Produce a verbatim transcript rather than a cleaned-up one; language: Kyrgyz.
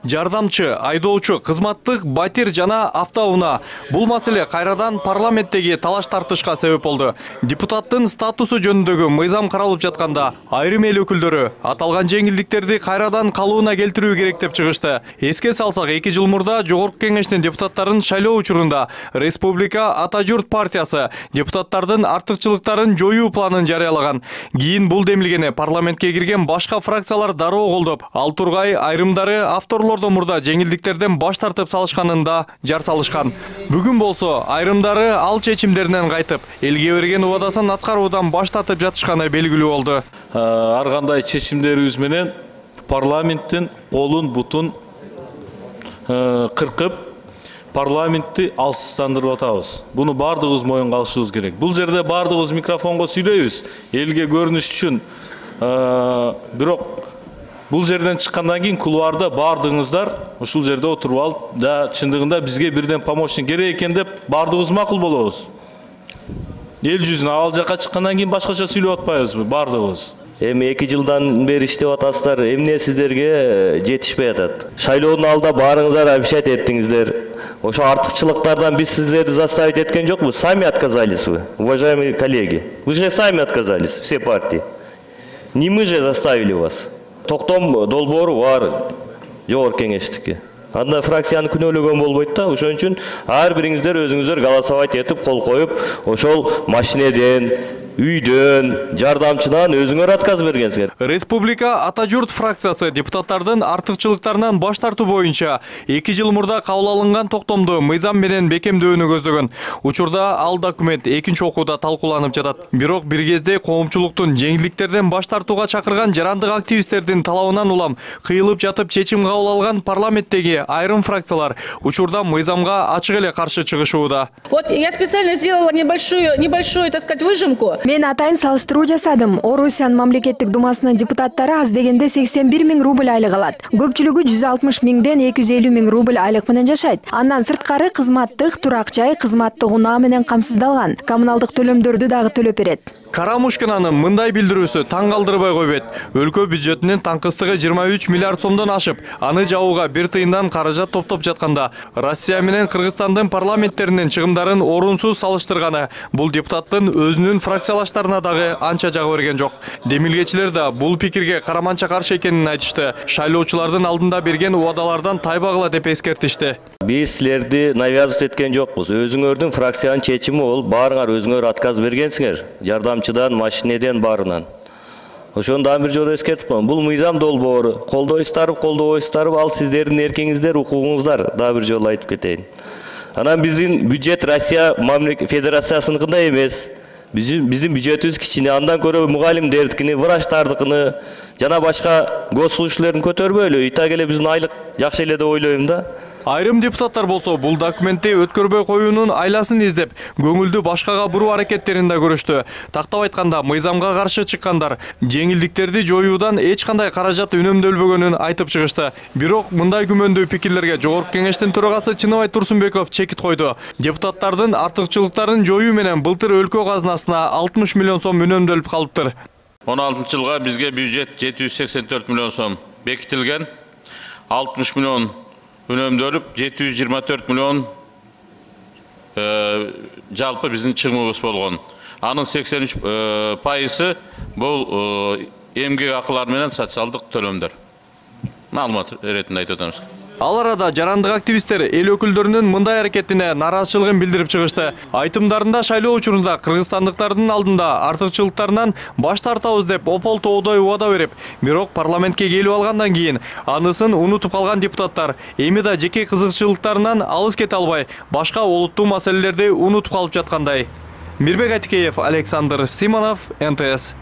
жардамчы, айдоочу, кызматтык батир жана автоунаа. Бул маселе кайрадан парламенттеги талаш тартышка себеп болду. Депутаттын статусу жөнүндөгү мыйзам каралып жатканда айрым эл өкүлдөрү аталган жеңилдиктерди кайрадан калууна келтирүү керек деп чыгышты. Эске салсак, эки жыл мурда Жогорку Кеңештин депутаттарын шайлоо учурунда Республика Ата Журт партиясы депутаттардын артыкчылыктарын жоюу планын жарыялаган. Кийин бул демилгени парламентке кирген башка фракциялар дароо колдоп, ал тургай айрымдары авторлордон мурда жеңилдиктерден баш тартып салышканын да жар салышкан. Бүгүн болсо айрымдары ал чечимдеринен кайтып, элге берген убадасын аткаруудан баш тартып жатышканы белгилүү болду. Ар кандай чечимдерибиз менен парламенттин колун бутун кыркып, парламентти алсыздандырып атабыз. Буну бардыгыбыз моюнга алышыбыз керек. Бул жерде бардыгыбыз микрофонго сүйлөйбүз, элге көрүнүш үчүн. Бирок бул жерден чыккандан кийин кулуарда бардыгыңыздар ушул жерде отуруп алып, да чындыгында бизге бирден помощник керек экен деп бардыгыбыз макул болобуз. Эл жүзүнө ал жака чыккандан кийин башкача сүйлөп атпайбызбы бардыгыбыз? Эми эки жылдан бери иштеп атасыздар, эмне сиздерге жетишпей атат? Шайлоонун алдында баарыңыздар обещать эттиңиздер. Ошо артыкчылыктардан биз сиздерди заставить эткен жокпуз, сами отказались вы, уважаемые коллеги. Вы же сами отказались, все партии. Не мы же заставили вас. Токтом долбоору бар Жогорку Кеңештики. Анда фракцияны күнөөлөгөн болбойт да, ошон үчүн ар бириңиздер өзүңүздөр голосовать этип кол коюп, ошол машинеден, үйдөн, жардамчыдан өзүңөр отказ бергенсиңер. Республика Ата Журт фракциясы депутаттардын артыкчылыктарынан баш тартуу боюнча эки жыл мурда кабыл алынган токтомду мыйзам менен бекемдөөнү көздөгөн. Учурда ал документ экинчи окууда талкууланып жатат. Бирок бир кезде коомчулуктун жеңилдиктерден баш тартууга чакырган жарандык активисттердин талабынан улам кыйылып жатып чечим кабыл алган парламенттеги айрым фракциялар учурда мыйзамга ачык эле каршы чыгышууда. Вот я специально сделала небольшую, небольшую, так сказать, выжимку. Мен атайын салыштыруу жасадым. Орусиянын мамлекеттик думасынын депутаттары аз дегенде сексен бир миң рубль айлык алат. Көпчүлүгү жүз алтымыш миңден эки жүз элүү миң рубль айлык менен жашайт. Андан сырткары кызматтык, турак жай, кызматтык унаа менен камсыздалган. Коммуналдык төлөмдөрдү дагы төлөп берет. Карамушкинанын мындай билдирүүсү таң калтырбай койбойт. Өлкө бюджетинин таңкыстыгы жыйырма үч миллиард сомдон ашып, аны жабууга бир тыйындан каражат топтоп жатканда, Россия менен Кыргызстандын парламенттеринин чыгымдарын орунсуз салыштырганы бул депутаттын өзүнүн фракциялаштарына дагы анча жагы берген жок. Демилгечилер да бул пикирге караманча каршы экенин айтышты. Шайлоочулардын алдында берген убадалардан тайбагыла деп эскертишти. Биз силерди навязывать эткен жокпуз. Өзүңөрдүн фракциянын чечими бол, баарыңар өзүңөр отказ бергенсиңер. Жардамчыдан, машинеден баарынан. Ошону дагы бир жолу эскертип коем. Бул мыйзам долбоору. Колдойсуздарбы, колдобойсуздарбы, ал сиздердин эркиңиздер, укугуңуздар. Дагы бир жолу айтып кетейин. Анан биздин бюджет Россия Федерациясыныкындай эмес. Биздин бюджетибиз кичине, андан көрө мугалимдердикини, врачтардыкыны жана башка госслужащийлердин көтөрбөйлү. Итак эле биздин айлык жакшы эле деп ойлойм да. Айрым депутаттар болсо бул документти өткөрбөй коюунун айласын издеп, көңүлдү башкага буруу аракеттерин да көрүштү. Тактап айтканда, мыйзамга каршы чыккандар жеңилдиктерди жоюудан эч кандай каражат үнөмдөлбөгөнүн айтып чыгышты. Бирок мындай күмөндүү пикирлерге Жогорку Кеңештин төрагасы Чыныбай Турсунбеков чекит койду. Депутаттардын артыкчылыктарын жоюу менен былтыр өлкө казынасына алтымыш миллион сом үнөмдөлүп калыптыр. он алтынчы жылга бизге бюджет жети жүз сексен төрт миллион сом бекитилген. алтымыш миллион үнөмдөлүп, жети жүз жыйырма төрт миллион жалпы биздин чыгымыбыз болгон. Анын сексен үч пайызы бул эмгек акылар менен социалдык төлөмдөр. Маалымат иретинде айтып атабыз. Ал арада жарандык активисттер эл өкүлдөрүнүн мындай аракетине нараазычылыгын билдирип чыгышты. Айтымдарында шайлоо учурунда кыргызстандыктардын алдында артыкчылыктарынан баш тартабыз деп опол тоодой убада берип, бирок парламентке келип алгандан кийин анысын унутуп калган депутаттар эми да жеке кызыкчылыктарынан алыс кете албай, башка олуттуу маселелерди унутуп калып жаткандай. Мирбек Атикеев, Александр Симонов, эн тэ эс.